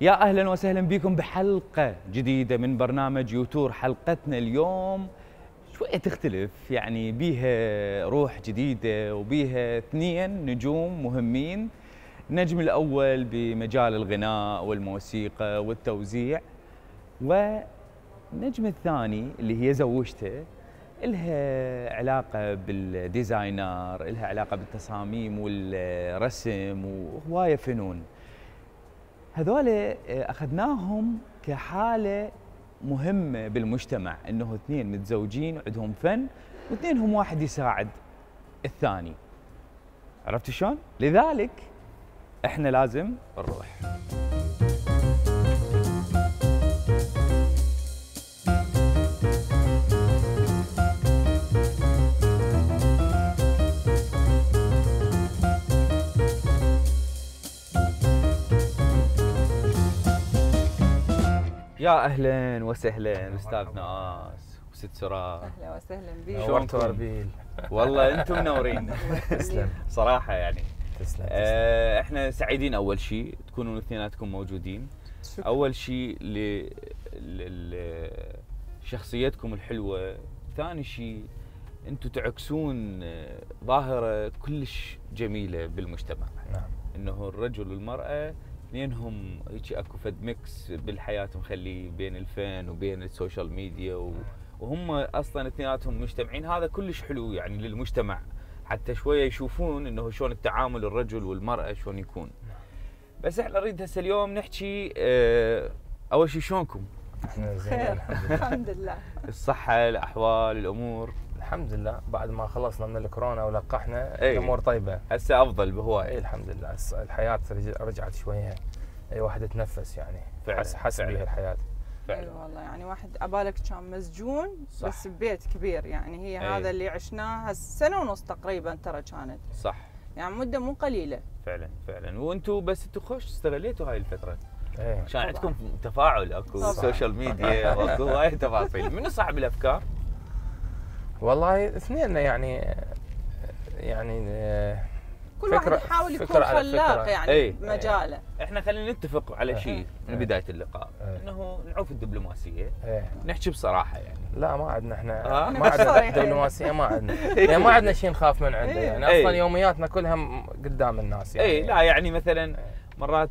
يا أهلا وسهلا بكم بحلقة جديدة من برنامج يوتور. حلقتنا اليوم شوية تختلف، يعني بيها روح جديدة وبيها اثنين نجوم مهمين. النجم الأول بمجال الغناء والموسيقى والتوزيع، والنجم الثاني اللي هي زوجته، إلها علاقة بالديزاينر، إلها علاقة بالتصاميم والرسم وهواية فنون. هذول أخذناهم كحالة مهمة بالمجتمع، إنه اثنين متزوجين عندهم فن واثنينهم واحد يساعد الثاني. عرفت شلون؟ لذلك احنا لازم نروح. يا اهلا وسهلا استاذ ناس وست سراء. اهلا وسهلا بك. نورتوا اربيل. والله انتم منورين. تسلم صراحه يعني. تسلم. احنا سعيدين اول شيء تكونون اثنيناتكم موجودين. شكرا. اول شيء لشخصيتكم الحلوه، ثاني شيء انتم تعكسون ظاهره كلش جميله بالمجتمع. نعم. انه الرجل والمراه اثنينهم هيك اكو فد ميكس بالحياه مخلي بين الفن وبين السوشيال ميديا وهم اصلا اثنيناتهم مجتمعين. هذا كلش حلو يعني للمجتمع، حتى شويه يشوفون انه شلون التعامل الرجل والمراه شلون يكون. بس احنا نريد هسه اليوم نحكي اول شيء شلونكم؟ احنا زين خير الحمد لله. الحمد لله. الصحه، الاحوال، الامور الحمد لله بعد ما خلصنا من الكورونا ولقحنا أي. الامور طيبه. هسه افضل اي بهوايه. الحمد لله الحياه رجعت شويه، اي واحد يتنفس يعني. فعلا حس بها الحياه. فعلا. اي والله يعني واحد عبالك كان مسجون صح. بس ببيت كبير، يعني هي أي. هذا اللي عشناه سنه ونص تقريبا ترى كانت، صح يعني مده مو قليله. فعلا فعلا. وانتم بس انتم خوش استغليتوا هاي الفتره، ايه كان عندكم تفاعل، اكو طبعاً. سوشيال ميديا واكو هواي تفاصيل. منو صاحب الافكار؟ والله اثنين يعني كل واحد يحاول يكون على خلاق فكرة. يعني أي. بمجاله. احنا خلينا نتفق على شيء من إيه. بدايه اللقاء، إيه. انه نعوف الدبلوماسيه، ايه. نحكي بصراحه يعني. لا ما عندنا احنا آه. ما عندنا صريحين. دبلوماسيه، ما عندنا يعني ما عندنا شيء نخاف من عنده، يعني إيه. اصلا يومياتنا كلها قدام الناس يعني. اي لا يعني مثلا مرات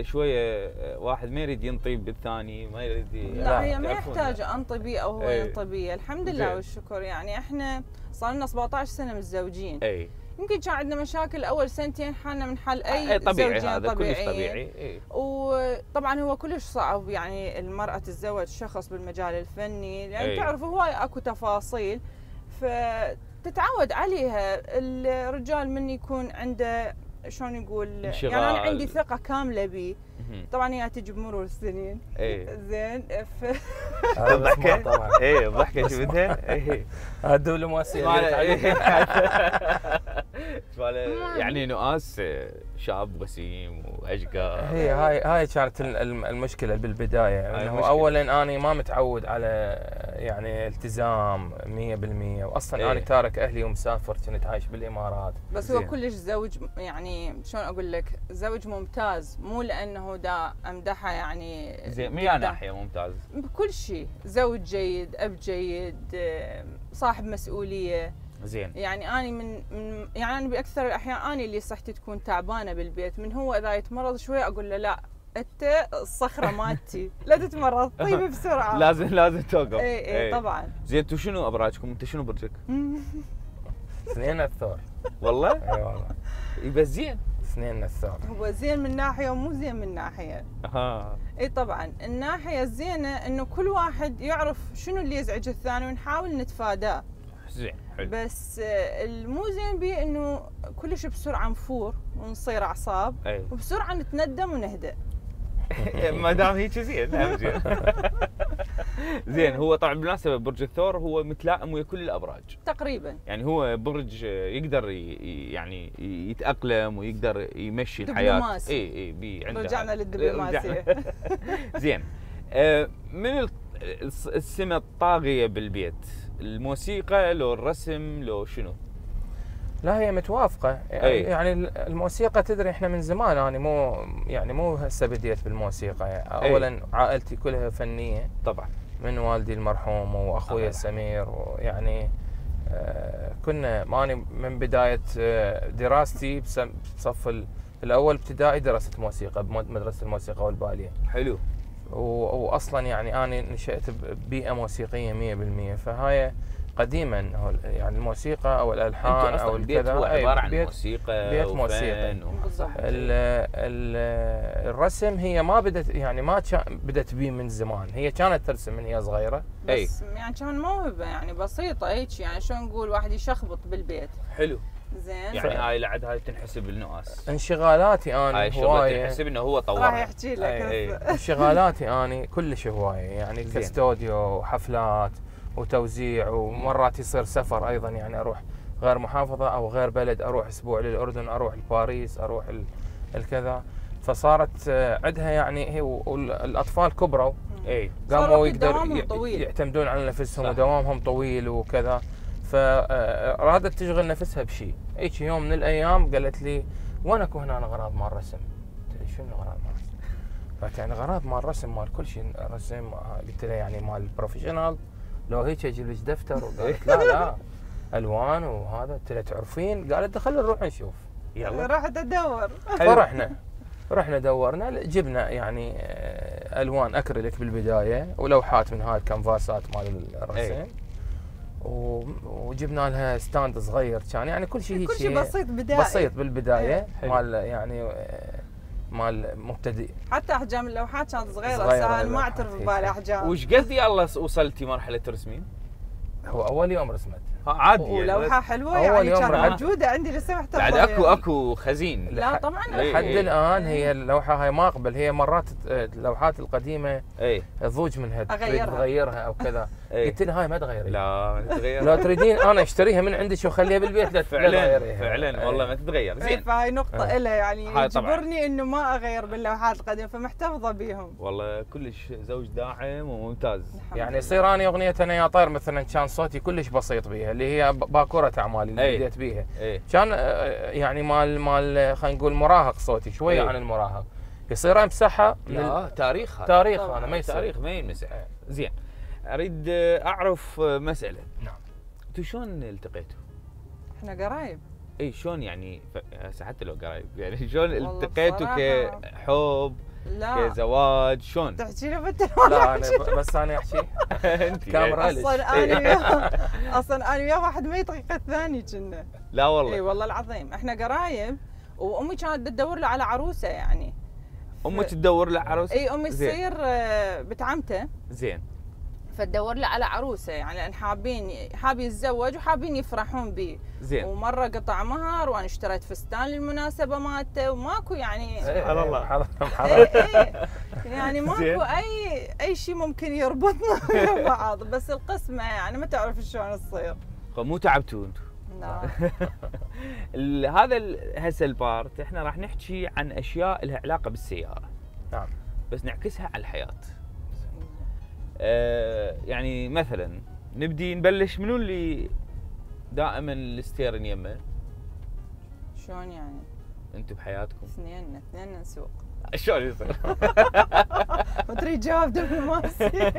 شويه واحد ما يريد ينطي بالثاني، ما يريد لا هي ما تعرفون. يحتاج انطي بيه او هو أي. ينطي بيه، الحمد لله زين. والشكر. يعني احنا صار لنا 17 سنه متزوجين. اي يمكن كان عندنا مشاكل اول سنتين حالنا من حال اي طبيعي، زوجين هذا كلش طبيعيين. طبيعي. اي وطبعا هو كلش صعب يعني المرأة تتزوج شخص بالمجال الفني، لأن أي. تعرف هواي اكو تفاصيل فتتعود عليها. الرجال من يكون عنده شلون يقول، انشغال. يعني انا عندي ثقة كاملة بيه. مهم. طبعا هي تجي بمرور السنين. اي زين هذا بس ما الضحكه طبعا. اي الضحكه شفتها؟ اي هذا الدبلوماسيه يعني نؤاس شاب وسيم واشقر. هي هاي كانت المشكله بالبدايه، هاي انه المشكلة. اولا انا ما متعود على يعني التزام 100%، واصلا إيه. انا تارك اهلي ومسافر، كنت عايش بالامارات. بس هو زين. كلش زوج، يعني شلون اقول لك، زوج ممتاز، مو لانه دا امدحه يعني زين من قدام. ناحيه ممتاز. بكل شيء، زوج جيد، اب جيد، صاحب مسؤوليه. زين يعني اني يعني انا باكثر الاحيان اني اللي صحتي تكون تعبانه بالبيت، من هو اذا يتمرض شويه اقول له لا انت الصخره مالتي لا تتمرض، طيب بسرعه. لازم توقف. اي طبعا. زين انتوا شنو ابراجكم؟ انت شنو برجك؟ اثنين الثور. والله اي والله بس زين. اثنين الثور. هو زين من ناحيه ومو زين من ناحيه. اها اي طبعا الناحيه الزينه انه كل واحد يعرف شنو اللي يزعج الثاني ونحاول نتفاداه. زين حلو. بس المو زين بيه انه كلش بسرعه نفور ونصير اعصاب، اي وبسرعه نتندم ونهدأ. ما دام هيك زين هم زين. زين هو طبعا بالمناسبه برج الثور هو متلائم ويا كل الابراج تقريبا. يعني، هو برج يقدر يعني يتاقلم ويقدر يمشي الحياه. دبلوماسي. اي عنده رجعنا هذا. للدبلوماسيه. زين من السمه الطاغيه بالبيت، الموسيقى لو الرسم لو شنو؟ لا هي متوافقه يعني الموسيقى تدري احنا من زمان انا مو هسه بديت بالموسيقى يعني اولا عائلتي كلها فنيه طبعا من والدي المرحوم واخوي سمير ويعني كنا ماني من بدايه دراستي بصف الاول ابتدائي درست موسيقى بمدرسه الموسيقى والباليه. حلو. واصلا يعني انا نشأت ببيئه موسيقيه 100%، فهاي قديما يعني الموسيقى او الالحان او الكذا هو عباره عن موسيقى بيت موسيقى. الرسم هي ما بدت يعني ما بدت بيه من زمان، هي كانت ترسم من هي صغيره بس يعني كان موهبه يعني بسيطه هيك يعني شلون نقول واحد يشخبط بالبيت. حلو. زين يعني هاي لعد هاي تنحسب النؤاس. انشغالاتي انا هاي هوايه تنحسب انه هو طورها. راح يحكي لك انشغالاتي انا كلش هوايه يعني كاستوديو وحفلات وتوزيع، ومرات يصير سفر ايضا يعني اروح غير محافظه او غير بلد، اروح اسبوع للاردن، اروح لباريس، اروح الكذا، فصارت عندها يعني هي والاطفال كبروا قاموا يقدروا يعتمدون على نفسهم ودوامهم طويل وكذا، فرادت تشغل نفسها بشيء. هيك يوم من الايام قالت لي وين اكو هنا غراض مال الرسم؟ قلت لها شنو غراض مال الرسم؟ قالت يعني غراض مال الرسم مال كل شيء رسم. قلت لها يعني مال البروفيشنال لو هيك اجيب لك دفتر؟ وقالت لا الوان وهذا. قلت لها تعرفين؟ قالت خلينا نروح نشوف. يلا رحت ادور. رحنا دورنا، جبنا يعني الوان اكريليك بالبدايه ولوحات من هاي الكنفاسات مال الرسم، وجبنا لها ستاند صغير كان يعني كل شيء بسيط بدائي بسيط بالبدايه مال يعني مال مبتدئ. حتى احجام اللوحات كانت صغيره انا ما اعترف ببالي احجام. وش قد يلا وصلتي مرحله رسمين؟ هو اول يوم رسمت عادي ولوحه حلوه يعني كانت موجوده عندي لسه محتفظه. بعد اكو خزين. لا طبعا لحد الان هي اللوحه هاي ما اقبل، هي مرات اللوحات القديمه تضوج منها تغيرها او كذا. قلت لها هاي ما تغيري. لا ما تتغير. لو تريدين انا اشتريها من عندك واخليها بالبيت لا تغيريها. فعلا والله ما تتغير. زين فهاي نقطه لها يعني يجبرني انه ما اغير باللوحات القديمه فمحتفظه بيهم. والله كلش زوج داعم وممتاز. يعني يصير اني اغنيه انا يا طير مثلا كان صوتي كلش بسيط بيها اللي هي باكوره اعمالي اللي بديت بيها. كان يعني مال خلينا نقول مراهق صوتي شويه عن المراهق، يصير امسحها لا تاريخ انا ما يصير تاريخ ما ينمسح. زين اريد اعرف مساله. نعم. انتوا شلون التقيتوا؟ احنا قرايب. شلون يعني حتى لو قرايب يعني شلون التقيتوا كحب؟ لا كزواج شلون؟ تحكي له لا انا بس انا احكي انت كاميرا اصلا انا وياه واحد ما يطيق الثاني كنا. لا والله. اي والله العظيم احنا قرايب، وامي كانت تدور له على عروسه يعني. امي تدور له عروسه؟ اي امي تصير بنت عمته. زين. فتدور له على عروسه يعني لان حاب يتزوج وحابين يفرحون به. زين. ومره قطع مهر وانا اشتريت فستان للمناسبه مالته وماكو يعني سبحان الله يعني ماكو اي شيء ممكن يربطنا ويا بعض، بس القسمه يعني ما تعرف شلون تصير. مو تعبتوا انتم؟ لا. هذا هسه البارت احنا راح نحكي عن اشياء لها علاقه بالسياره. نعم. بس نعكسها على الحياه. يعني مثلا نبلش منو اللي دائما الستيرن يمه؟ شلون يعني؟ انتم بحياتكم؟ اثنيننا نسوق. شلون يصير؟ وتريد جواب دبلوماسي.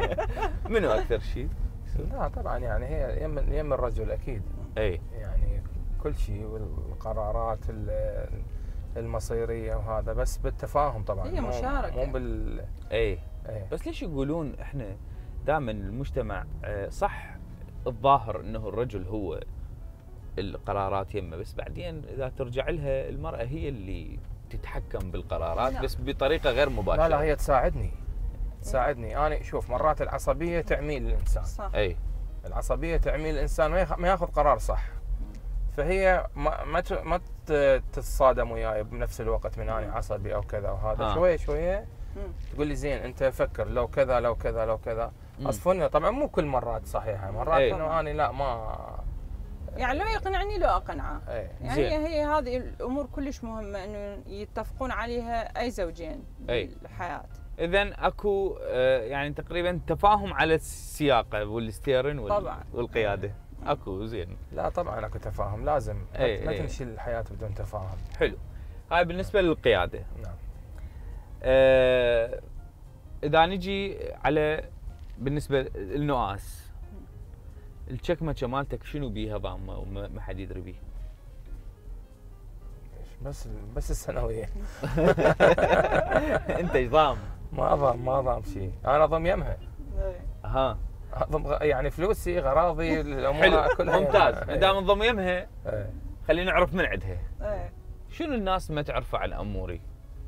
منو اكثر شيء؟ لا طبعا يعني هي يم الرجل اكيد. يعني كل شيء والقرارات المصيريه وهذا بس بالتفاهم طبعا. هي مشاركه مو بال بس ليش يقولون احنا دائما المجتمع صح الظاهر انه الرجل هو القرارات يمه، بس بعدين اذا ترجع لها المراه هي اللي تتحكم بالقرارات. لا. بس بطريقه غير مباشره. لا هي تساعدني انا شوف مرات العصبيه تعميل الانسان. صح. العصبيه تعميل الانسان ما ياخذ قرار صح، فهي ما تتصادم وياي بنفس الوقت من اني عصبي او كذا وهذا. شويه تقول لي زين انت فكر لو كذا لو كذا لو كذا. اصفنا طبعا مو كل مرات صحيحه، مرات انه اني لا ما يعني لو يقنعني لو اقنعه. يعني هي هذه الامور كلش مهمه انه يتفقون عليها اي زوجين بالحياه. اذا اكو يعني تقريبا تفاهم على السياقه والستيرن والقياده. اكو زين. لا طبعا اكو تفاهم، لازم ما تمشي الحياه بدون تفاهم. حلو. هاي بالنسبه للقياده. نعم. اذا نجي على بالنسبه للنؤاس، الشكمكه مالتك شنو بيها ضامه وما حد يدري بيه؟ بس الثانويه. انت ايش ضام؟ ما ضام شيء، انا ضم يمها. اها. ضم يعني فلوسي، غراضي، الامور حلو. كلها. ممتاز. ما دام انضم يمها خلينا نعرف من عندها. ايه. شنو الناس ما تعرفه عن اموري؟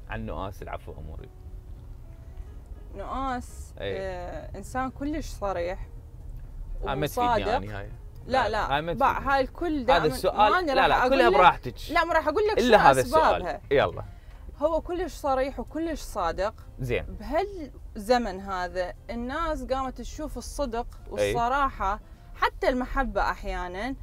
عن نؤاس العفو اموري. نؤاس انسان كلش صريح وصادق. يعني هاي لا هاي الكل دائما. هذا السؤال لا كلها براحتك. لا ما راح اقول لك الا هذا أسبابها. السؤال. يلا. هو كلش صريح وكلش صادق. زين. بهالزمن هذا الناس قامت تشوف الصدق والصراحه، حتى المحبه احيانا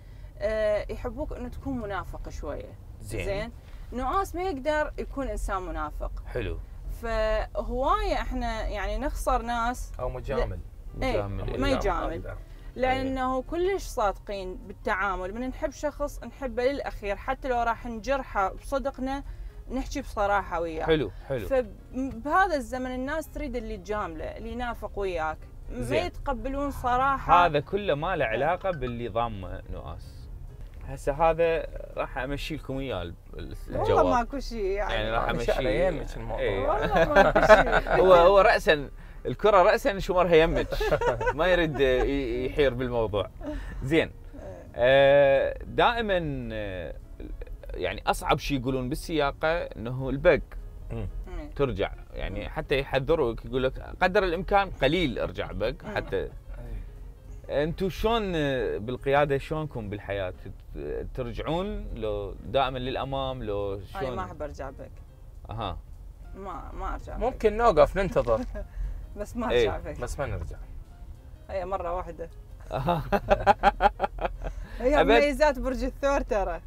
يحبوك انه تكون منافق شويه. زين. نؤاس ما يقدر يكون انسان منافق. حلو. فهوايه احنا يعني نخسر ناس او مجامل. ما يجامل، لانه كلش صادقين بالتعامل. من نحب شخص نحبه للاخير، حتى لو راح نجرحه بصدقنا نحكي بصراحه وياه. حلو. فبهذا الزمن الناس تريد اللي تجامله، اللي ينافق وياك، ما يتقبلون صراحه. هذا كله ما له علاقه باللي ضام نؤاس. هسه هذا راح امشي لكم اياه الجواب. والله ماكو شيء يعني راح امشي يمك الموضوع. والله ماكو شيء. هو راسا الكره راسا شمرها يمك، ما يريد يحير بالموضوع. زين. دائما يعني اصعب شيء يقولون بالسياقه انه البق ترجع، يعني حتى يحذروك يقول لك قدر الامكان قليل ارجع بق. حتى انتم شلون بالقياده، شلونكم بالحياه؟ ترجعون لو دائما للامام لو شلون؟ انا ما احب ارجع بك. اها. ما ارجع بك. ممكن نوقف ننتظر. بس ما ارجع بك. بس ما نرجع. هي مره واحده. هي ميزات برج الثور ترى.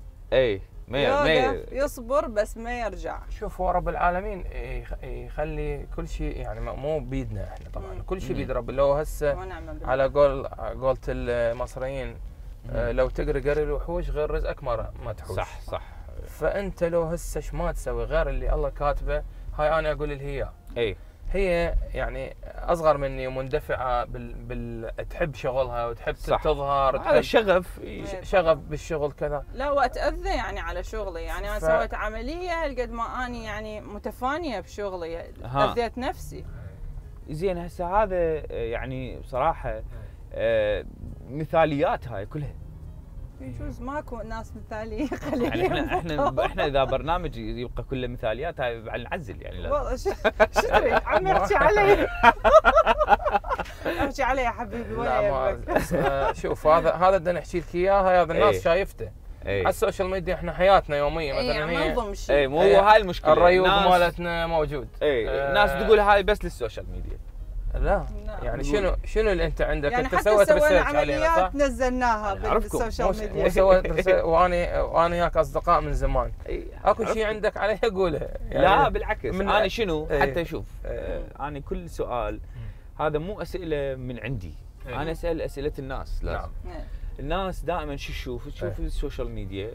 ما يصبر بس ما يرجع. شوف، هو رب العالمين يخلي كل شيء، يعني مو بيدنا احنا طبعا. كل شيء بيد رب. لو هسه على قولة المصريين لو تقري قري الوحوش غير رزقك ما تحوش. صح. فانت لو هسه ما تسوي غير اللي الله كاتبه، هاي انا اقول لها هي يعني اصغر مني ومندفعه تحب شغلها وتحب تظهر. هذا شغف بالشغل كذا. لا واتاذى يعني على شغلي. يعني انا سويت عمليه هالقد ما اني يعني متفانيه بشغلي، اذيت نفسي. زين. هسه هذا يعني بصراحه مثاليات هاي كلها. يجوز ماكو ناس مثاليه. يعني احنا اذا برنامج يبقى كله مثاليات هاي نعزل يعني. والله شو تريد عم احكي علي؟ احكي علي يا حبيبي ولا يهمك. شوف هذا بدنا نحكي لك اياه. هذا الناس شايفته على السوشيال ميديا. احنا حياتنا يوميه مثلا ما نضم شيء. مو هاي المشكله. الريوق مالتنا موجود. الناس تقول هاي بس للسوشيال ميديا. لا يعني شنو اللي انت عندك؟ يعني انت سويت ريسيرش عليها صح؟ نزلناها بالسوشيال ميديا. سويت وانا وياك اصدقاء من زمان. اكو شيء عندك عليه قوله. يعني لا بالعكس. انا شنو حتى شوف انا كل سؤال هذا مو اسئله من عندي. انا اسال اسئله الناس. لازم الناس دائما شو تشوف السوشيال ميديا.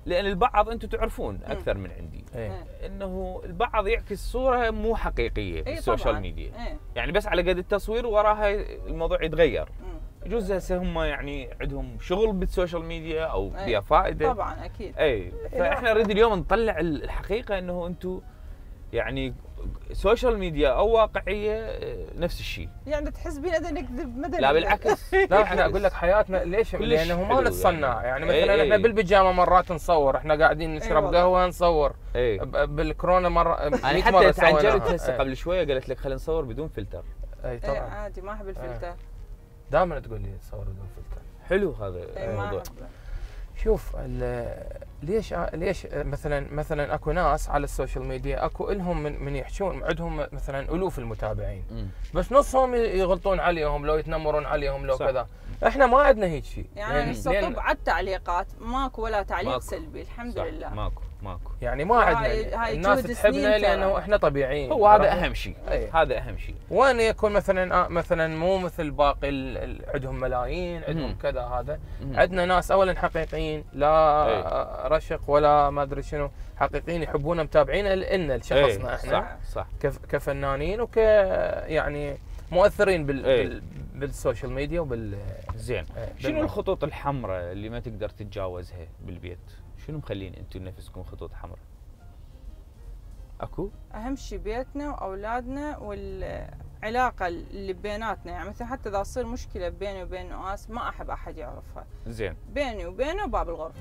لان البعض انتم تعرفون اكثر من عندي انه البعض يعكس صوره مو حقيقيه بالسوشيال ميديا. يعني بس على قد التصوير وراها الموضوع يتغير. يجوز هسه هم يعني عندهم شغل بالسوشيال ميديا او بها فائده. طبعا اكيد. فاحنا نريد اليوم نطلع الحقيقه انه انتم يعني سوشيال ميديا او واقعيه نفس الشيء. يعني تحس بينا نكذب مدى؟ لا بالعكس. لا احنا اقول لك حياتنا ليش؟ لانه ما نتصنع. يعني مثلا احنا بالبيجامه مرات نصور، احنا قاعدين نشرب قهوه نصور. بالكورونا مره انا حتى تعجلت هسه قبل شويه قالت لك خلينا نصور بدون فلتر. طبعا عادي ما احب الفلتر. دائما تقول لي صور بدون فلتر. حلو هذا الموضوع. شوف ليش مثلا اكو ناس على السوشيال ميديا اكو لهم من يحشون عندهم مثلا الوف المتابعين. بس نصهم يغلطون عليهم لو يتنمرون عليهم لو كذا. احنا ما عندنا هيك شيء. يعني هسه طب على التعليقات ماكو ولا تعليق سلبي الحمد لله. ماكو ماكو. يعني ما عندنا الناس تحبنا لانه احنا طبيعيين. هو هذا اهم شيء. هذا اهم شيء. وين يكون مثلا مو مثل باقي عندهم ملايين، عندهم كذا، هذا عندنا ناس اولا حقيقيين، لا رشق ولا ما ادري شنو، حقيقيين يحبونا متابعين لنا لشخصنا احنا. صح كفنانين يعني مؤثرين بالسوشيال ميديا زين. شنو الخطوط الحمراء اللي ما تقدر تتجاوزها بالبيت؟ شنو مخلين انتم نفسكم خطوط حمراء؟ اكو؟ اهم شيء بيتنا واولادنا والعلاقه اللي بيناتنا، يعني مثلا حتى اذا تصير مشكله بيني وبين نواس ما احب احد يعرفها. زين. بيني وبينه باب الغرفه.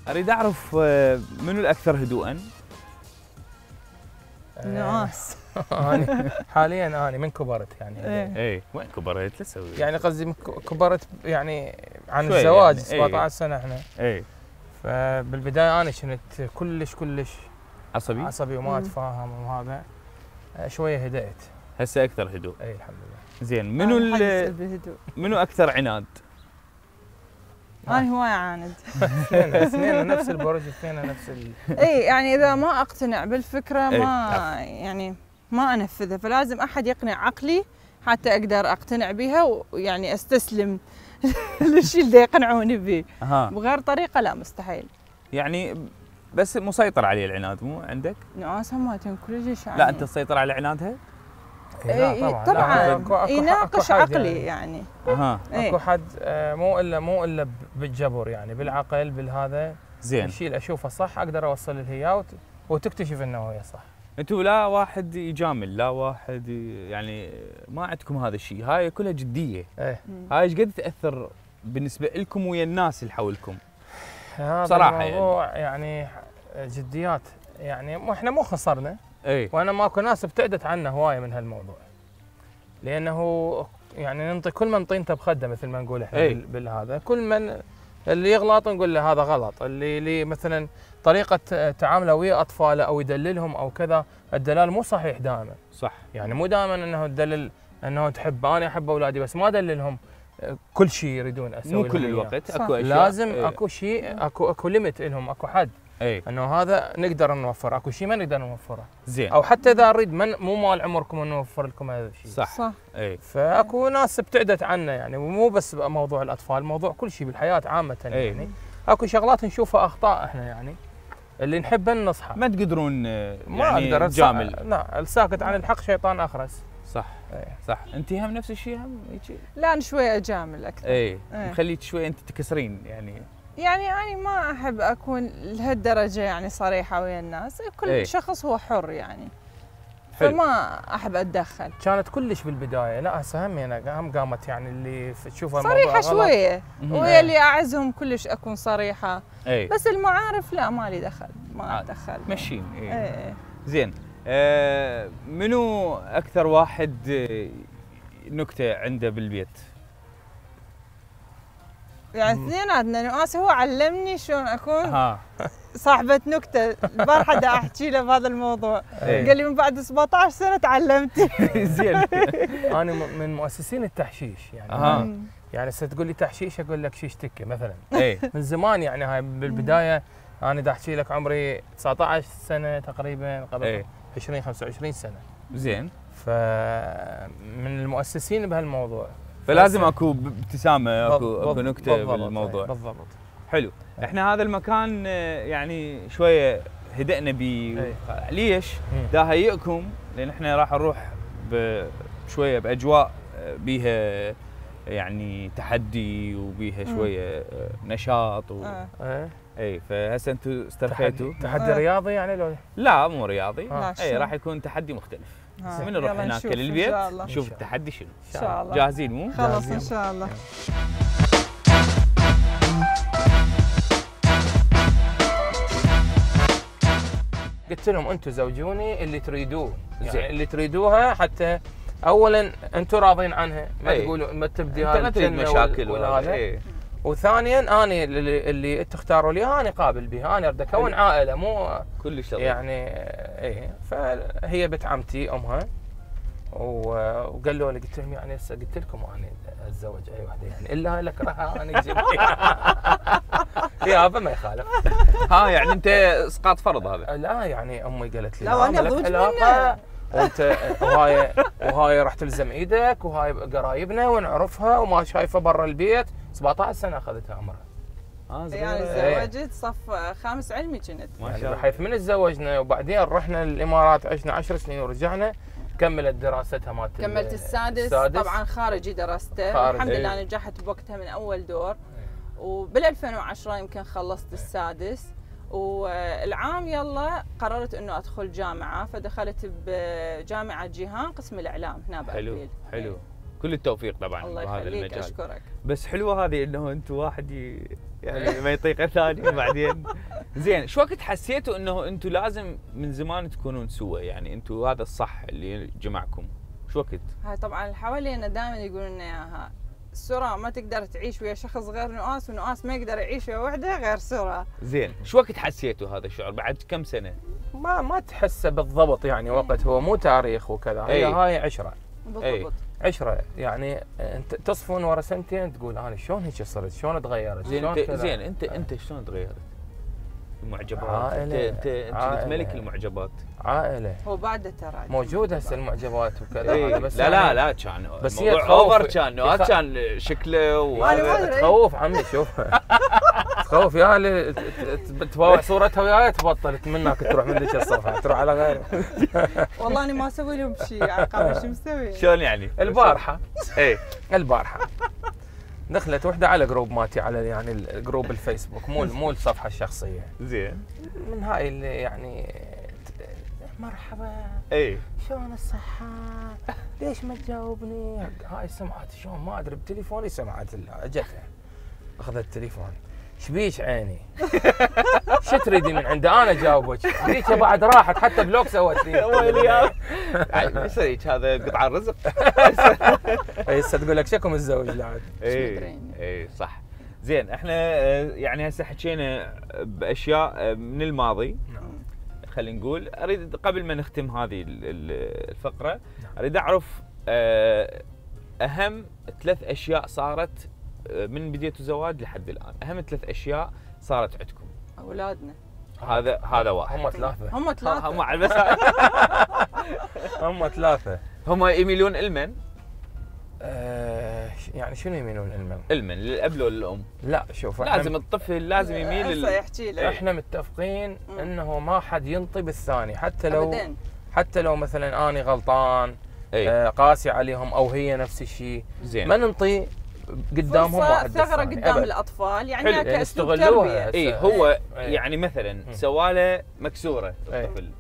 اريد اعرف منو الاكثر هدوءا؟ نواس. انا حاليا انا من كبرت يعني. اي وين كبرت تسوي؟ يعني قصدي كبرت يعني عن الزواج يعني 17 سنه احنا. اي فبالبدايه انا كنت كلش عصبي وما اتفاهم وهذا. شويه هدأت. هسه اكثر هدوء. اي الحمد لله. زين. منو اكثر عناد؟ أنا هواية عاند. اثنين نفس البرج، اثنين نفس اي يعني اذا ما اقتنع بالفكرة ما يعني ما انفذها، فلازم احد يقنع عقلي حتى اقدر اقتنع بها ويعني استسلم للشيء اللي يقنعوني به. بغير طريقة لا مستحيل. يعني بس مسيطر عليه العناد مو عندك؟ ناس هماتهم كل شيء. لا انت تسيطر على عنادها؟ لا طبعا يناقش عقلي يعني. اكو حد مو الا بالجبر يعني، بالعقل بالهذا. زين. الشيء اللي اشوفه صح اقدر اوصل له اياه وتكتشف انه هي صح. انتم لا واحد يجامل، لا واحد يعني ما عندكم هذا الشيء، هاي كلها جديه. هاي ايش قد تاثر بالنسبه لكم ويا الناس اللي حولكم؟ صراحه الموضوع يعني جديات يعني، احنا مو خسرنا. وانا ماكو ناس ابتعدت عنا هوايه من هالموضوع، لانه يعني ننطي كل من طينته بخده مثل ما نقول احنا بالهذا. كل من اللي يغلط نقول له هذا غلط، اللي مثلا طريقه تعامله ويا اطفاله او يدللهم او كذا، الدلال مو صحيح دائما. صح. يعني مو دائما انه تدلل انه تحب. انا احب اولادي بس ما ادللهم كل شيء يريدون اسوي. مو كل الوقت. اكو اشياء لازم اكو شيء، اكو ليميت لهم، اكو حد. انه هذا نقدر نوفره، اكو شيء ما نقدر نوفره. زين. او حتى اذا نريد مو مال عمركم انه نوفر لكم هذا الشيء. صح. فاكو ناس ابتعدت عنا يعني، ومو بس موضوع الاطفال، موضوع كل شيء بالحياه عامه يعني. اكو شغلات نشوفها اخطاء احنا يعني، اللي نحبها نصحى. ما تقدرون ما يعني اقدر تجامل. لا، الساكت عن الحق شيطان اخرس. صح. صح. انت هم نفس الشيء هم هيك؟ لا انا شوي اجامل اكثر. مخليك شوي انت تكسرين يعني. يعني ما احب اكون لهالدرجه يعني صريحه ويا الناس، كل شخص هو حر يعني. فما احب اتدخل. كانت كلش بالبدايه، لا هسه هم قامت يعني اللي تشوفها صريحه شويه، ويا اللي اعزهم كلش اكون صريحه. بس المعارف لا مالي دخل، ما اتدخل. مشين. زين. منو اكثر واحد نكته عنده بالبيت؟ يعني اثنيناتنا. نواس هو علمني شلون اكون صاحبة نكتة. البارحة دا احكي له بهذا الموضوع. قال لي من بعد 17 سنة تعلمت. زين. انا من مؤسسين التحشيش يعني. يعني تقول لي تحشيش اقول لك شيش تكه مثلا. من زمان يعني. هاي بالبداية انا دا احكي لك عمري 19 سنة تقريبا، قبل 25 سنة. زين. فمن المؤسسين بهالموضوع. فلازم اكو ابتسامه، اكو نكته بالموضوع. بالضبط. حلو. احنا هذا المكان يعني شويه هدأنا بيه. ليش؟ دا هيئكم لان احنا راح نروح شويه باجواء بيها يعني تحدي وبيها شويه نشاط فهسه انتم استرخيتوا. تحدي رياضي يعني لو؟ لا مو رياضي. راح يكون تحدي مختلف. من نروح هناك للبيت نشوف التحدي شنو. ان شاء الله. جاهزين مو؟ خلاص ان شاء الله. قلت لهم انتم زوجوني اللي تريدوه، يعني اللي تريدوها حتى اولا انتم راضين عنها، ما أي. تقولوا ما تبدي انت ما تريد مشاكل وهذا. ايه. وثانيا انا اللي تختاروا لي انا قابل به، انا اريد اكون عائله مو كلش لطيف. يعني ايه. فهي بنت عمتي امها وقالوا لي، قلت لهم يعني هسه قلت لكم انا اتزوج اي وحده يعني الا لك راح انا اجيب يابا ما يخالف. ها يعني انت اسقاط فرض هذا؟ لا يعني امي قالت لي لا، وانا اضوج منه وانت وهاي راح تلزم ايدك، وهاي قرايبنا ونعرفها وما شايفه برا البيت. 17 سنه اخذتها عمرها. يعني تزوجت صف 5 علمي كنت. ما شاء الله. بحيث من تزوجنا وبعدين رحنا الامارات، عشنا 10 سنين ورجعنا. كملت دراستها مالت كملت السادس طبعا خارجي درسته، الحمد لله نجحت بوقتها من اول دور. وبال 2010 يمكن خلصت السادس، والعام يلا قررت انه ادخل جامعه، فدخلت بجامعه جيهان قسم الاعلام هنا بأبيل. حلو. كل التوفيق طبعا الله بهذا يخليك، المجال. اشكرك. بس حلوه هذه انه انتم واحد يعني ما يطيق الثاني بعدين. زين، شو وقت حسيتوا انه انتم لازم من زمان تكونون سوا؟ يعني انتم هذا الصح اللي جمعكم، شو وقت؟ هاي طبعا اللي حوالينا دائما يقولون لنا اياها، سرى ما تقدر تعيش ويا شخص غير نؤاس، ونؤاس ما يقدر يعيش ويا وحده غير سرى. زين، شو وقت حسيتوا هذا الشعور؟ بعد كم سنه؟ ما تحسه بالضبط يعني وقت، هو مو تاريخ وكذا. هي هاي عشره. بالضبط. عشره يعني انت تصفون ورا سنتين تقول انا شلون هيك صرت، شلون تغيرت. زين انت شلون تغيرت؟ المعجبات. عائلة. انت كنت ملك المعجبات. عائله. هو بعد ترى موجوده هسه المعجبات وكذا. إيه. بس لا يعني لا كان بس الموضوع اوفر، كان كان شكله تخوف عمي. شوف تخوف يا اللي تباوع صورتها وياي تبطل منك تروح من ذيك الصفحه تروح على غيره. والله انا ما اسوي لهم شيء عقاب. شو مسوي؟ شلون يعني؟ البارحه البارحه دخلت وحده على جروب مالتي، على يعني الجروب الفيسبوك، مو الصفحه الشخصيه. زين. من هاي اللي يعني مرحبا شلون الصحه؟ ليش ما تجاوبني؟ هاي سمعت شلون ما ادري بتليفوني، سمعت اجتها اخذت التليفون. شبيش عيني؟ شو تريدي من عندي انا اجاوبك؟ ذيك بعد راحت حتى بلوك سوت لي. ايش هيك؟ هذا قطع الرزق. هسه تقول لك شكو متزوج لا. اي صح. زين، احنا يعني هسه حكينا باشياء من الماضي. خلينا نقول، اريد قبل ما نختم هذه الفقره اريد اعرف اهم 3 اشياء صارت من بديتوا الزواج لحد الان. اهم 3 اشياء صارت عندكم. اولادنا. هذا واحد. هم 3. هم على بس. هم 3. هم يميلون لمن؟ يعني شنو يميلون لمن؟ للاب ولا للام؟ لا شوف، لازم الطفل لازم يميل يحكي لك. احنا متفقين انه ما حد ينطي بالثاني، حتى لو مثلا اني غلطان قاسي عليهم او هي نفس الشيء. ما ننطي قدامهم واحد ثغره قدام الاطفال، يعني يستغلوها. هو يعني مثلا سواله مكسوره الطفل،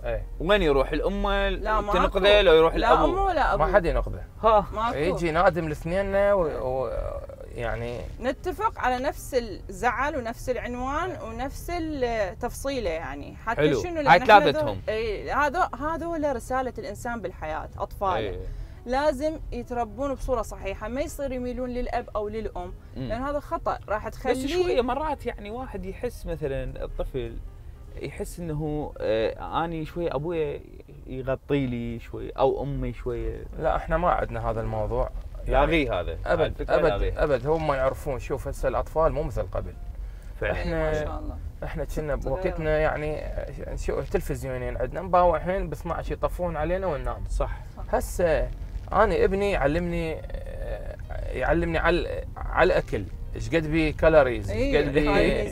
وين يروح؟ الامه تنقذه لو يروح الابو؟ لا ما حد ينقذه. يجي نادم الاثنين يعني نتفق على نفس الزعل ونفس العنوان ونفس التفصيله، يعني حتى شنو هاي 3 هذول رساله الانسان بالحياه. اطفال لازم يتربون بصوره صحيحه، ما يصير يميلون للاب او للام، لان هذا خطا راح تخليه. بس شويه مرات يعني واحد يحس، مثلا الطفل يحس انه اني شويه ابويا يغطي لي شويه او امي شويه. لا احنا ما عندنا هذا الموضوع، لاغيه هذا ابد هم ما يعرفون. شوف هسه الاطفال مو مثل قبل. احنا ما شاء الله احنا كنا بوقتنا يعني نشوف تلفزيونين عندنا مباوعين ب 12 يطفون علينا وننام. صح. هسه انا ابني يعلمني على الاكل، ايش قد بي كالوريز، ايش قد بي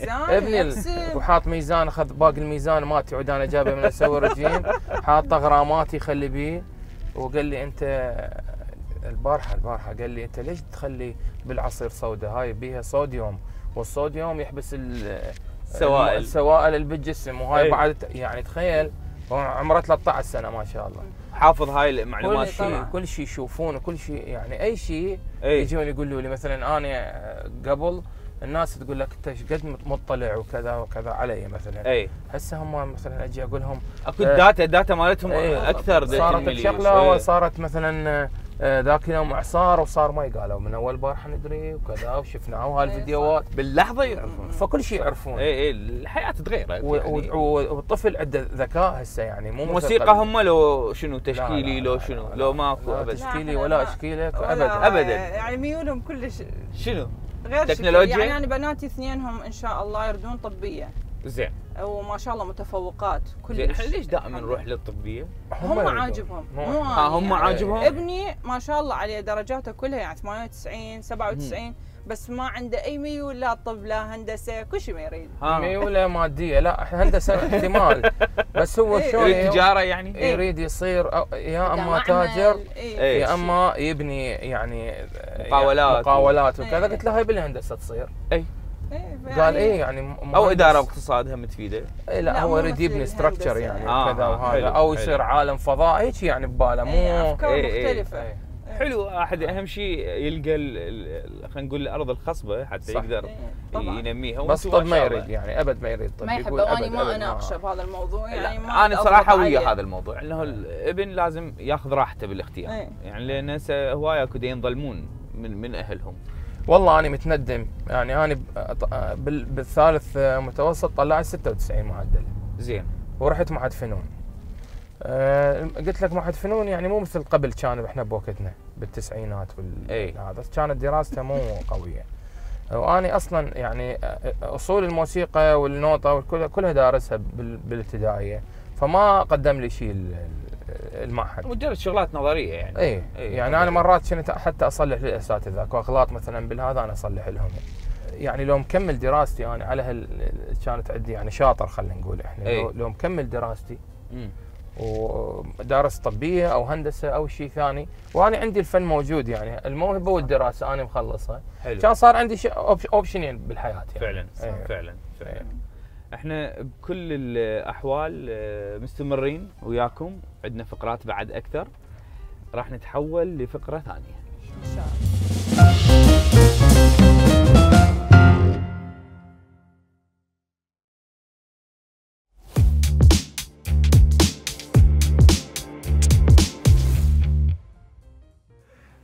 ابني وحاط ميزان، اخذ باقي الميزان مالتي عود انا جايبه من اسوي رجيم، حاط غراماتي يخلي بيه. وقال لي انت البارحه قال لي انت ليش تخلي بالعصير صودا؟ هاي بيها صوديوم، والصوديوم يحبس السوائل اللي بالجسم، وهاي بعد يعني تخيل عمره 13 سنه ما شاء الله. حافظ هاي المعلومات. كل شيء يشوفونه، كل شيء يعني اي شيء يجون يقولوا لي. مثلا انا قبل الناس تقول لك انت ايش قد مطلع وكذا وكذا علي مثلا. هسه هم مثلا اجي اقول لهم اكو داتا مالتهم اكثر. صارت الشغله وصارت مثلا ذاك اليوم اعصار وصار مي، قالوا من اول بارحه ندري وكذا وشفناه وهالفيديوهات باللحظه يعرفون، فكل شيء يعرفون. اي الحياه تغيرت يعني. والطفل عنده ذكاء هسه يعني مو موسيقى هم لو شنو تشكيلي لو شنو لو ماكو ابد تشكيلي ولا اشكيلك ابدا يعني ميولهم كلش شنو غير تكنولوجيا. يعني انا بناتي اثنينهم ان شاء الله يردون طبيه زين وما شاء الله متفوقات كلش. احنا ليش دائما نروح للطبيه؟ هم عاجبهم هم عاجبهم. ابني ما شاء الله عليه درجاته كلها يعني 98 97 بس ما عنده اي ميول لا طب لا هندسه كل شيء ما يريد. ميوله ماديه لا هندسه احتمال بس هو شلون التجاره يعني يريد يصير يا اما تاجر يا اما يبني يعني مقاولات وكذا. قلت له هاي بالهندسه تصير. قال ايه يعني او اداره واقتصاد هم تفيده. لا هو يريد يبني ستراكشر يعني كذا وهذا او يصير عالم فضاء هيك يعني بباله مو افكار مختلفه. حلو واحد اهم شيء يلقى خلينا نقول الارض الخصبه حتى صح. يقدر ينميها. بس طب ما يريد يعني ابد ما يريد طب ما يحب. واني ما اناقشه بهذا الموضوع يعني انا صراحه ويا هذا الموضوع انه الابن لازم ياخذ راحته بالاختيار يعني لان هوايه اكو ينظلمون من اهلهم. والله انا متندم يعني انا بالثالث متوسط طلعت 96 معدل. زين. ورحت معهد فنون. قلت لك معهد فنون يعني مو مثل قبل كان احنا بوقتنا بالتسعينات هذا كانت دراسته مو قويه. وانا اصلا يعني اصول الموسيقى والنوطه كلها دارسها بالابتدائيه فما قدم لي شيء المعهد. مجرد شغلات نظريه يعني. يعني انا مرات كنت حتى اصلح للاساتذه اكو اغلاط مثلا بالهذا انا اصلح لهم. يعني لو مكمل دراستي انا على كانت عندي يعني شاطر خلينا نقول احنا لو مكمل دراستي ودارس طبيه او هندسه او شيء ثاني وانا عندي الفن موجود يعني الموهبه والدراسه انا مخلصها كان صار عندي اوبشنين بالحياه يعني. فعلا فعلا احنا بكل الاحوال مستمرين وياكم. عندنا فقرات بعد اكثر راح نتحول لفقره ثانيه ان شاء الله.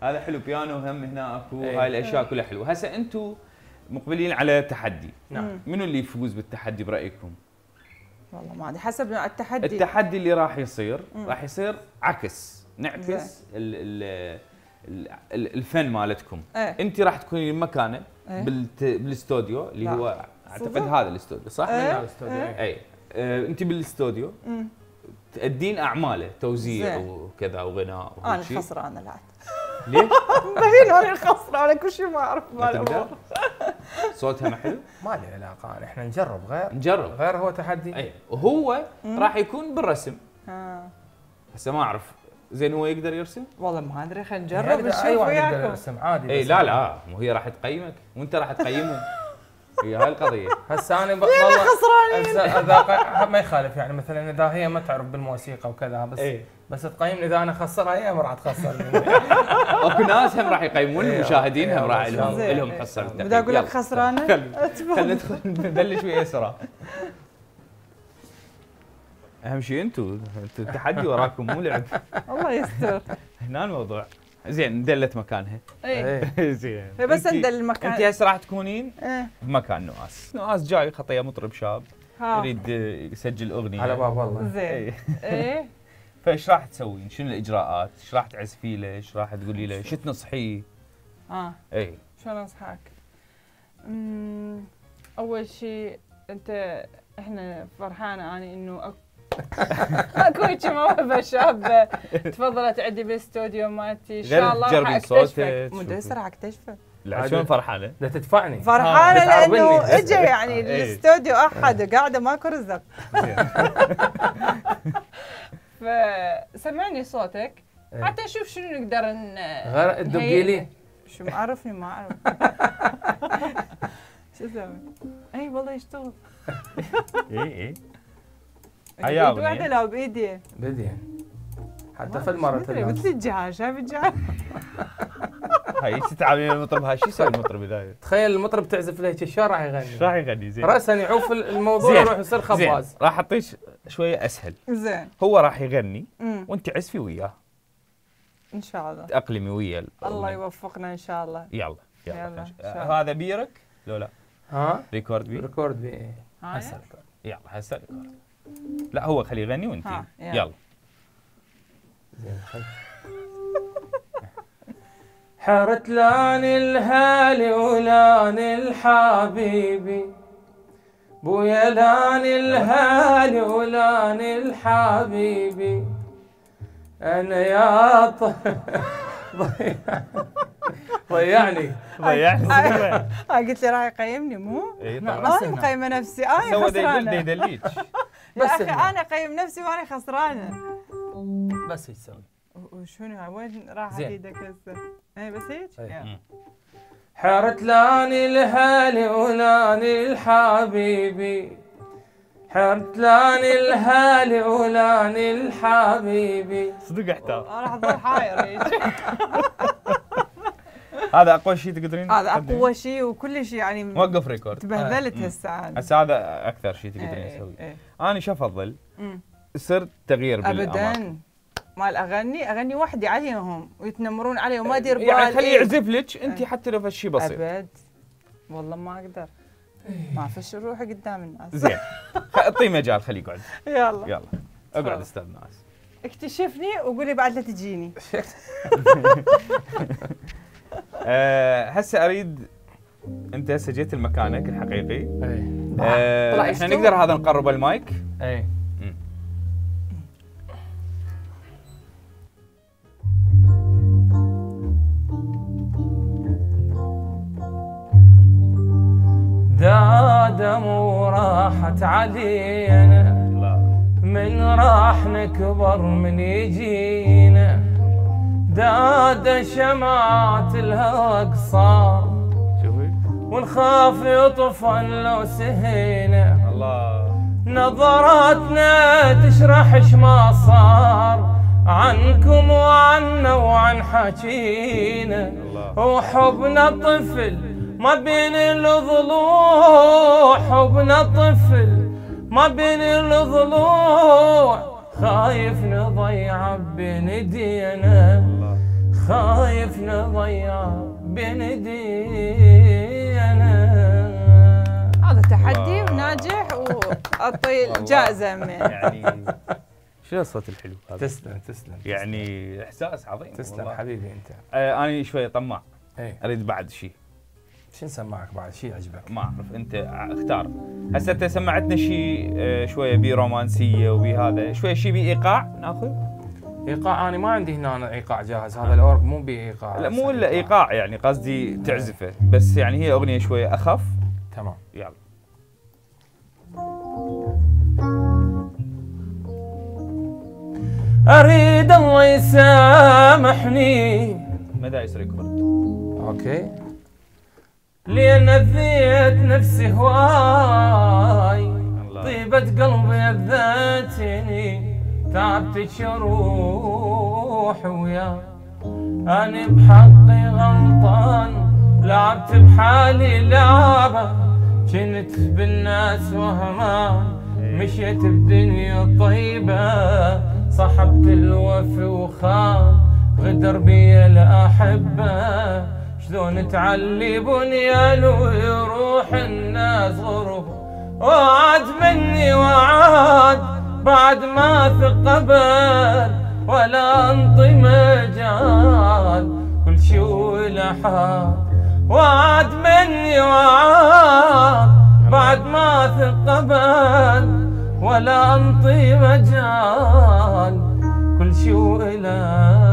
هذا حلو بيانو هم هنا اكو هاي الاشياء كلها حلوه. هسه انتم مقبلين على تحدي. نعم. منو اللي يفوز بالتحدي برايكم؟ والله ما ادري حسب التحدي. التحدي اللي راح يصير عكس نعكس الفن مالتكم. انت راح تكوني مكانه بالاستوديو اللي هو اعتقد هذا الاستوديو صح؟ الاستوديو انت بالاستوديو تأدين اعماله توزيع وكذا وغناء انا الخسرانه لا ليه؟ مبين انا الخسرانه كل شيء ما اعرف ما صوتها ما حلو؟ ما له علاقه احنا نجرب نجرب غير هو تحدي. وهو راح يكون بالرسم. هسه ما اعرف زين هو يقدر يرسم؟ والله ما ادري خلينا نجرب نشوف وياكم. يقدر يرسم عادي. لا مو هي راح تقيمك وانت راح تقيمه. هي هاي القضيه. هسه انا والله خسرانين. ما يخالف يعني مثلا اذا هي ما تعرف بالموسيقى وكذا بس تقيمني اذا انا خسرها هي ما راح تخسرني. اكو ناس هم راح يقيمون المشاهدين هم راح لهم حصه بالتقييم. بدي اقول لك خسرانه. خلينا ندخل نبلش ويا اسراء. اهم شيء انتم التحدي وراكم مو لعب. الله يستر. هنا الموضوع. زين ندلت مكانها. زين. بس ندل المكان. انت هسه راح تكونين بمكان نواس جاي خطيه مطرب شاب يريد يسجل اغنيه على باب الله. زين. فايش راح تسوين؟ شنو الاجراءات؟ ايش راح تعزفي له؟ ايش راح تقولي له؟ شو تنصحيه؟ شلون انصحك؟ اول شيء احنا فرحانه اني انه اكو هيك موهبه شابه تفضلت عندي بالاستوديو مالتي ان شاء الله راح اكتشفك. مدرسه راح اكتشفك. لا شلون فرحانه؟ لا تدفعني. فرحانه لانه اجى يعني الاستوديو احد قاعده ماكو رزق. فسمعني صوتك حتى نشوف شنو نقدر غير تدقي لي. شو معرفني ما اعرف. شو اسوي؟ اي والله يشتغل. اي بيد واحده لو بايدي. حتى في المره مثل الجهاز شايف الجهاز؟ هاي تتعاملين المطرب هاي شو يسوي المطرب اذا تخيل المطرب تعزف له شو راح يغني؟ ايش راح يغني؟ زين راسا يعوف الموضوع يروح يصير خباز. راح اعطيك شويه اسهل. زين هو راح يغني وانت عزفي وياه. ان شاء الله تأقلمي ويا الله يوفقنا ان شاء الله. يلا يلا. هذا بيرك لو لا؟ ها ريكورد بي؟ ريكورد بي هسه ريكورد. يلا هسه ريكورد. لا هو خليه يغني وانت يلا. زين حرت لان الهالي ولان الحبيبي بويا لان الهالي ولان الحبيبي انا يا ضيعني قلت لي راح يقيمني مو؟ اي ما انا مقيمه نفسي انا خسرانه. يدليك يا اخي انا اقيم نفسي وانا خسرانه. بس هيك تسوي. وشنو وين راح ايدك هسه؟ اي بس هيك؟ حرت لاني الهالي ولاني الحبيبي حرت لاني الهالي ولاني الحبيبي. صدق احتار. راح اظل حاير. هذا اقوى شيء تقدرين؟ هذا اقوى شيء وكل شيء يعني. وقف ريكورد. تبهدلت هسه انا. هسه هذا اكثر شيء تقدرين تسويه. انا شو افضل؟ صرت تغيير بالاماكن. ابدا مال اغني وحدي عليهم ويتنمرون علي وما ادري يعني خليه يعزف لك انت حتى لو شيء بسيط. ابد والله ما اقدر. ما افشل روحي قدام الناس. زين اعطيه مجال خليه يقعد. يلا اقعد استاذ ناس. اكتشفني وقولي بعد لا تجيني. هسه اريد انت هسه جيت لمكانك الحقيقي. اي احنا نقدر هذا نقرب المايك. اي دادم وراحت علينا من راح نكبر من يجينا دادا شمعات الهوى قصار ونخاف يطفن لو سهينا الله نظراتنا تشرح ما صار عنكم وعنا وعن حكينا وحبنا طفل ما بين الضلوع حبنا طفل ما بين الضلوع خايف نضيع بين ايدينا خايف نضيع بين ايدينا. هذا تحدي وناجح واعطي جائزه من يعني شو الصوت الحلو هذا؟ تسلم يعني احساس عظيم. تسلم حبيبي انت. انا شويه طماع. ايه اريد بعد شيء. شو نسمعك بعد شيء يعجبك؟ ما اعرف انت اختار. هسه انت سمعتنا شيء شويه بي رومانسيه وبي هذا شويه شيء بي ايقاع ناخذ. ايقاع انا ما عندي هنا ايقاع جاهز. هذا الاورج مو بايقاع. لا مو الا ايقاع يعني قصدي تعزفه بس يعني هي اغنيه شويه اخف. تمام يلا. اريد الله يسامحني. ما دايس ريكورد. اوكي. لين اذيت نفسي هواي طيبة قلبي اذيتني تعبت شروح وياك أنا بحقي غلطان لعبت بحالي لعبة كنت بالناس وهمان مشيت بدنيا طيبة صحبت الوفي وخان غدر بي الأحبة شلون تعلي بنيان ويروح الناس غرب وعد مني وعاد بعد ما ثقبل ولا انطي مجال كل شو لحال وعد مني وعاد بعد ما ثقبل ولا انطي مجال كل شو لحال.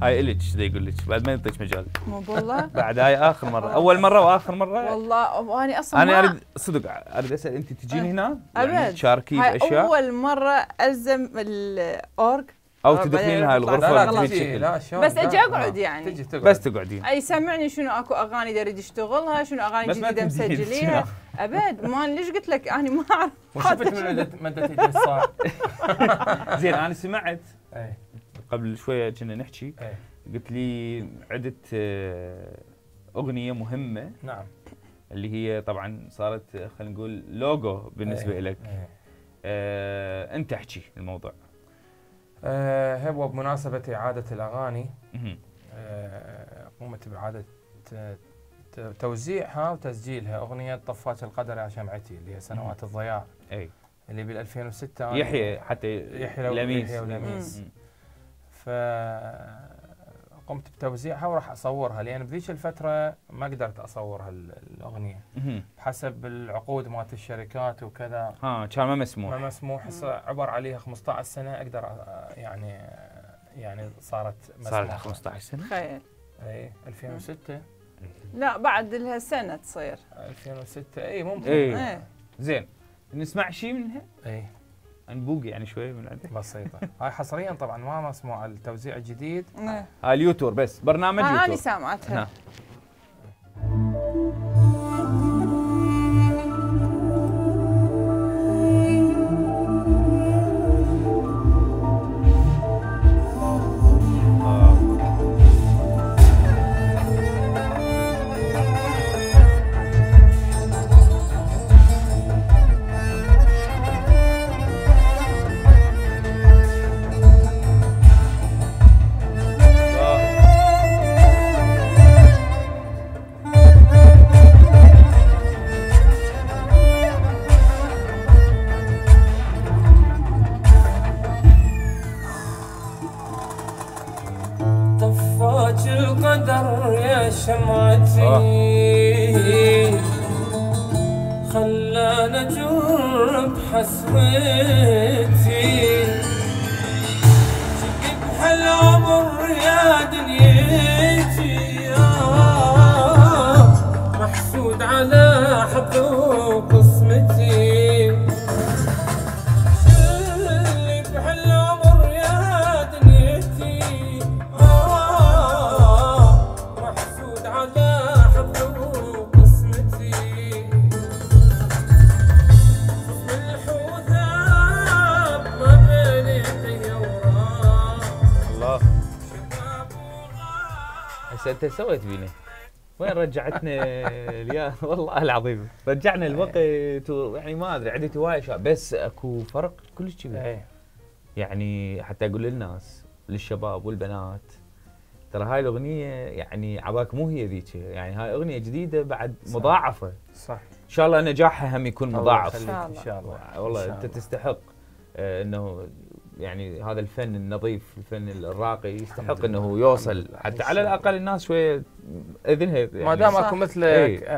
هاي إلك ذا يقول لك بعد ما يعطيك مجال. مو والله؟ بعد هاي اخر مره، اول مره واخر مره. والله وانا اصلا انا اريد صدق اريد اسال انت تجيني هنا يعني تشاركي باشياء؟ اول مره الزم الاورج او تدخلين هاي الغرفه لا بس اجي اقعد يعني بس تقعدين يسمعني شنو اكو اغاني اريد اشتغلها شنو اغاني جديده مسجليها ابد ما ليش قلت لك انا ما اعرف وشفت من مدة ايدي صار. زين انا سمعت قبل شويه كنا نحكي قلت لي عدت اغنيه مهمه. نعم. اللي هي طبعا صارت خلينا نقول لوجو بالنسبه لك. انت احكي الموضوع. هو بمناسبة إعادة الأغاني قمت بإعادة توزيعها وتسجيلها أغنية طفاش القدر يا شمعتي اللي هي سنوات الضياع. اي اللي بال 2006 يحيى حتى يحيى ولميس. فقمت بتوزيعها وراح أصورها، لأن بذيك الفترة ما قدرت أصور هالأغنية بحسب العقود مالت الشركات وكذا. كان ما مسموح. ما مسموح. هسه عبر عليها 15 سنة أقدر يعني صارت مسموحة. صار لها 15 سنة؟ تخيل. اي 2006. لا بعد لها سنة تصير. 2006 اي ممكن. اي زين نسمع شيء منها؟ اي نبوق يعني شوي من عندك؟ بسيطة. هاي حصريا طبعا ما مسموع التوزيع الجديد. هاي اليوتور بس برنامج يوتور. أنا سامعتها. خلانا جرب حسرتي شقب هالعمر يا دنيتي محسود على حظ وقسمتي شقب هالعمر يا دنيتي محسود على حظ وقسمتي انت سويت بينا وين رجعتنا والله العظيم رجعنا الوقت يعني ما ادري عندي هواي اشياء بس اكو فرق كلش كبير. يعني حتى اقول للناس للشباب والبنات ترى هاي الاغنيه يعني عباك مو هي ذيك، يعني هاي اغنيه جديده بعد مضاعفه. صح. ان شاء الله نجاحها هم يكون مضاعف. ان شاء الله. والله انت تستحق انه يعني هذا الفن النظيف الفن الراقي يستحق انه يوصل حتى على الاقل الناس شويه اذنها يعني ما دام اكو مثلك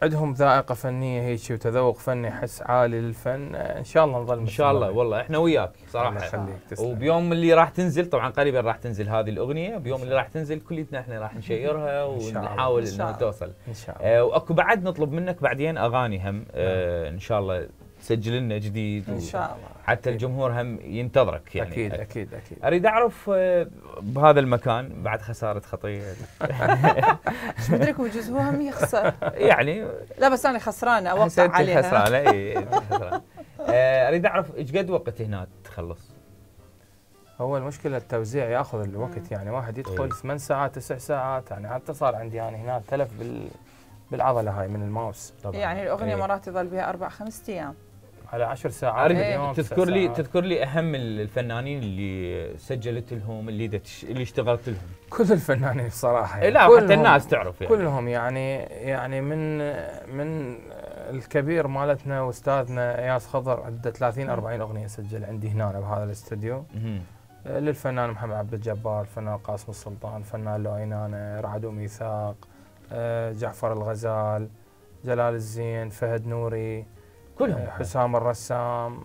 عندهم ذائقه فنيه هيك وتذوق فني حس عالي للفن ان شاء الله نظل ان شاء الله. والله احنا وياك صراحه. وبيوم اللي راح تنزل طبعا قريبا راح تنزل هذه الاغنيه، بيوم اللي راح تنزل كليتنا احنا راح نشيرها ونحاول انها توصل ان شاء الله. واكو بعد نطلب منك بعدين اغاني هم ان شاء الله تسجل لنا جديد ان شاء الله حتى الجمهور هم ينتظرك يعني. اكيد اكيد. اريد اعرف بهذا المكان بعد خساره خطيه ايش بدرك وجوز هو هم يخسر يعني. لا بس انا خسرانه اوقع عليها. خسرانه اي خسرانه. اريد اعرف ايش قد وقت هنا تخلص؟ هو المشكله التوزيع ياخذ الوقت، يعني واحد يدخل 8 ساعات 9 ساعات، يعني حتى صار عندي يعني هنا تلف بالعضله هاي من الماوس طبعا. يعني الاغنيه مرات يظل بها 4-5 ايام على 10 ساعات. تذكر لي اهم الفنانين اللي سجلت لهم اللي اشتغلت لهم. كل الفنانين بصراحه يعني. لا حتى الناس تعرف يعني. كلهم يعني من الكبير مالتنا واستاذنا اياس خضر عنده 30 40 اغنيه سجل عندي هنا بهذا الاستوديو. للفنان محمد عبد الجبار، الفنان قاسم السلطان، الفنان لؤينانه، رعد وميثاق، جعفر الغزال، جلال الزين، فهد نوري، كلهم، حسام الرسام،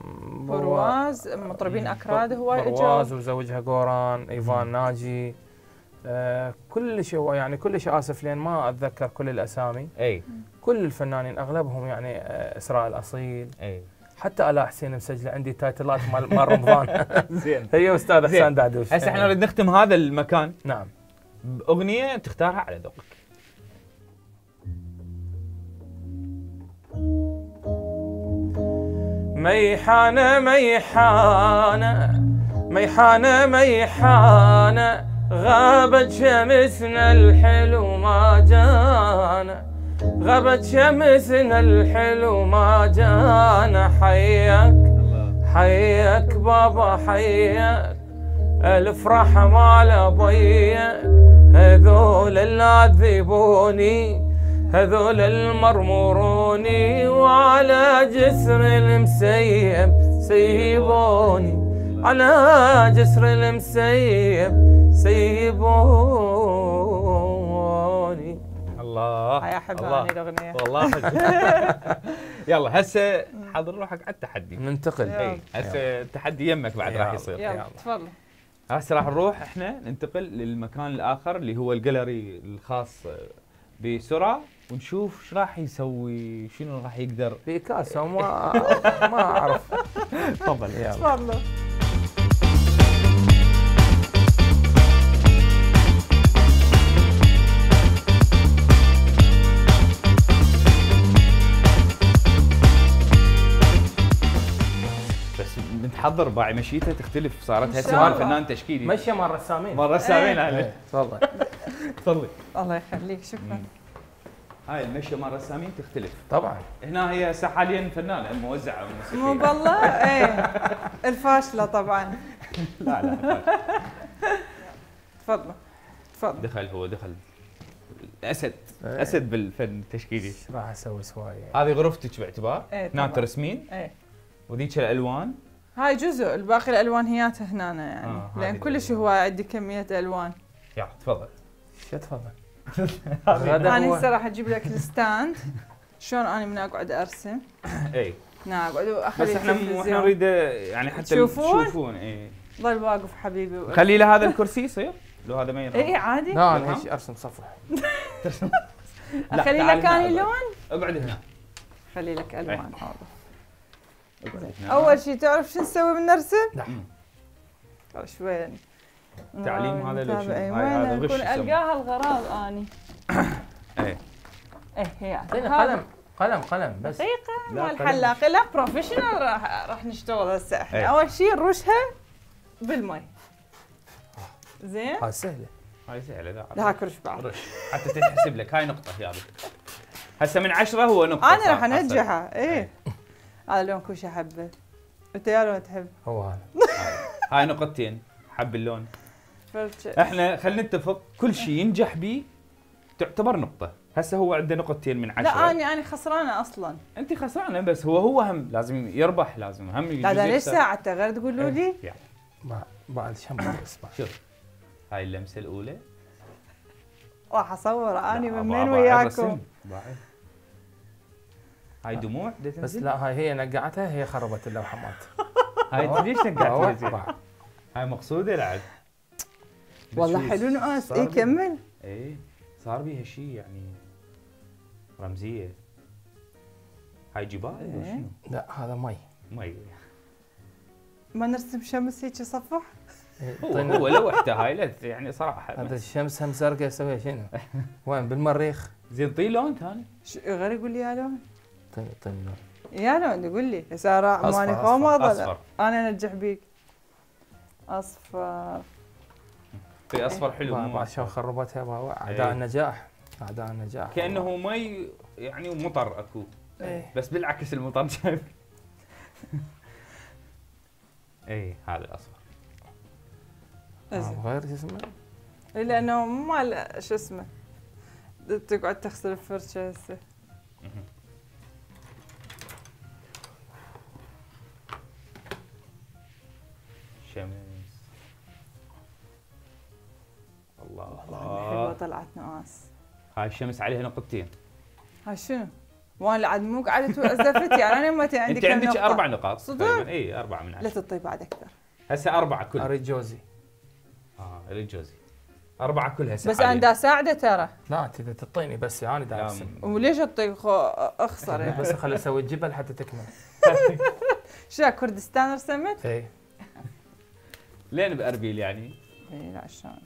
برواز، مطربين اكراد هواي اجوا، برواز وزوجها قوران، ايفان ناجي، كل شيء يعني كل شيء اسف لين ما اتذكر كل الاسامي. اي كل الفنانين اغلبهم يعني اسراء الاصيل. اي حتى الاء حسين مسجله عندي تايتلات مال رمضان. زين. هي استاذ حسين دعدوش. هسه احنا نريد نختم هذا المكان نعم باغنيه تختارها على ذوقك. ميحانة ميحانة ميحانة ميحانة غابت شمسنا الحلو ما جانا، غابت شمسنا الحلو ما جانا، حياك حياك بابا حياك الافرح مال ابيك هذول العذبوني هذول المرمروني وعلى جسر المسيب سيبوني على جسر المسيب سيبوني. الله يا احبها الله. هذه الاغنيه والله حلو. يلا هسه حضر روحك على التحدي. ننتقل. اي هسه التحدي يمك بعد راح يصير. يلا تفضل. هسه راح نروح احنا ننتقل للمكان الاخر اللي هو الجاليري الخاص بسرعه ونشوف ايش راح يسوي، شنو راح يقدر. بيكاسو ما اعرف. تفضل يلا. تفضل. بس نتحضر باعي مشيته تختلف، صارت إن هسه شاء مال الله. فنان تشكيلي. مشي مال رسامين. مره سامعين إيه، عليه. تفضل. تفضلي. الله يخليك شكرا. هاي المشيه مال رسامين تختلف. طبعا. هنا هي هسه حاليا فنانه موزعه موسيقيه. مو بالله ايه الفاشله طبعا. لا لا تفضل تفضل. دخل هو دخل اسد إيه. اسد بالفن التشكيلي. ايش راح اسوي سواي؟ هذه غرفتك باعتبار إيه هنا طبعاً. ترسمين ايه وذيك الالوان. هاي جزء، الباقي الالوان هياتها هنا يعني لان هذه كلش الألوان. هو عندي كميه الوان. يلا تفضل. شو تفضل؟ انا هو هسه راح اجيب لك الستاند شلون انا من اقعد ارسم. اي هنا اقعد واخلي بس احنا التلفزيون. نريد يعني حتى تشوفون؟ تشوفون. اي ظل واقف حبيبي. خلي له هذا الكرسي يصير لو هذا ما ينفع. اي عادي. لا انا ايش ارسم صفحه. لا، اخلي تعال لك هنا اني اقعد. لون. اقعد هنا. خلي لك الوان. حاضر. اقعد هنا. اول شيء تعرف شو نسوي بالنرسم؟ لا. شوي تعليم هذا لو شنو؟ هاي وين هذا غش نكون يسمى. القاها الغراض اني. ايه ايه هي اعطيني هذا. قلم بس. دقيقة لا، مال قلم. حلاقي لا بروفيشنال راح نشتغل هسه احنا. ايه. اول شيء نرشها بالمي. زين؟ هاي سهله. هاي سهله لا لا هاك رش بعض. رش حتى تنحسب لك. هاي نقطه يا هسه من 10 هو نقطه. انا صار راح انجحها ايه. هذا لون كوش احبه. انت يا لون تحب؟ هو هذا. هاي نقطتين حب اللون. فرشة. احنا خلينا نتفق كل شيء ينجح به تعتبر نقطه. هسه هو عنده نقطتين من 10. لا انا خسرانه اصلا. انت خسرانه بس هو هم لازم يربح، لازم هم لا ده ليش ساعته غير تقولوا لي؟ يعني ما بعد شمر اسمع. شوف هاي اللمسه الاولى. راح اصور اني لا، من باعي وين وياكم. رسم. باعي. هاي دموع دا بس تنزل؟ لا هاي هي نقعتها هي خربت اللوحه مالت. هاي انت ليش نقعت زين؟ باع. هاي مقصوده لعب. بس والله شو حلو نقاس. صار اي بي- كمل. ايه صار بيها شيء يعني رمزيه. هاي جبال ولا إيه. شنو؟ لا هذا مي. مي. ما نرسم شمس هيك صفح؟ هو لوحته هاي لا يعني صراحه. هذا الشمس هم زرقاء يسويها شنو؟ وين بالمريخ؟ زين طي لون ثاني. غير يقول لي يا لون. طيب يا لون يقول لي هسه راح أصفر، ماني أصفر، غامضه. اصفر. انا انجح بيك. اصفر. طي اصفر حلو مو بعد شو أصفر. خربتها اعداء إيه. النجاح. اعداء النجاح. كانه مي يعني ومطر اكو. ايه بس بالعكس المطر جاي. اي هذا الاصفر. زين. غير شو اسمه؟ لانه ما شو اسمه تقعد تغسل الفرشه هسه. شمس. الله حلوه الله. طلعت نقاس. هاي الشمس عليها نقطتين. هاي شنو؟ وانا عاد مو قعدت وزفت يعني انا متى عندي انت كم عندك نقطة؟ 4 نقاط صدق؟ تقريبا. اي 4 من لا 10. تطي بعد اكثر. هسه 4 كل. اريد جوزي. اريد جوزي. 4 كل هسه. بس انا دا اساعده ترى. لا انت اذا تعطيني بس انا دا ارسم. وليش اطي اخسر يعني؟ بس خلي اسوي الجبل حتى تكمل. شو كردستان رسمت؟ اي لين باربيل يعني. اي لا شلون.